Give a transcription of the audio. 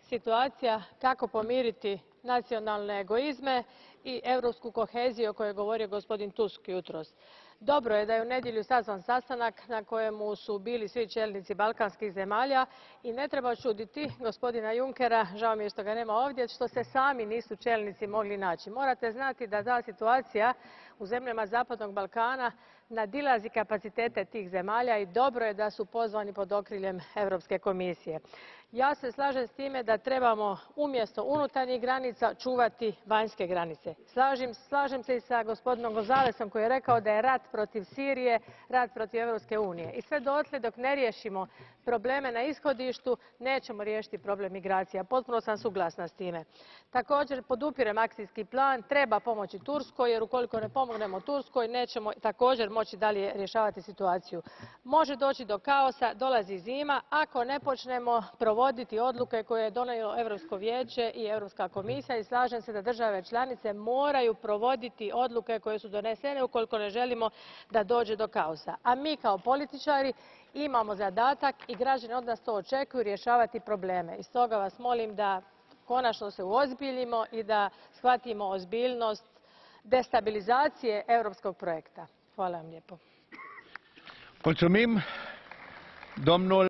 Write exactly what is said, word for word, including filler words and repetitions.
situacija kako pomiriti nacionalne egoizme i europsku koheziju o kojoj je govorio gospodin Tusk jutros. Dobro je da je u nedjelju sazvan sastanak na kojemu su bili svi čelnici balkanskih zemalja i ne treba čuditi gospodina Junckera, žao mi je što ga nema ovdje, što se sami nisu čelnici mogli naći. Morate znati da ta situacija u zemljama Zapadnog Balkana nadilazi kapacitete tih zemalja i dobro je da su pozvani pod okriljem Europske komisije. Ja se slažem s time da trebamo umjesto unutarnjih granica čuvati vanjske granice. Slažem, slažem se i s gospodinom Gonzalesom koji je rekao da je rat protiv Sirije rat protiv Europske unije. I sve dotle dok ne riješimo probleme na ishodištu nećemo riješiti problem migracija. Potpuno sam suglasna s time. Također podupirem akcijski plan, treba pomoći Turskoj jer ukoliko ne pomognemo Turskoj nećemo također moći dalje rješavati situaciju. Može doći do kaosa, dolazi zima, ako ne počnemo provoditi odluke koje je donijelo Europsko vijeće i Europska komisija i slažem se da države članice moraju provoditi odluke koje su donesene ukoliko ne želimo da dođe do kaosa. A mi kao političari imamo zadatak i građani od nas to očekuju rješavati probleme. I stoga vas molim da konačno se uozbiljimo i da shvatimo ozbiljnost destabilizacije europskog projekta. Hvala vam lijepo. Mulțumim, domnul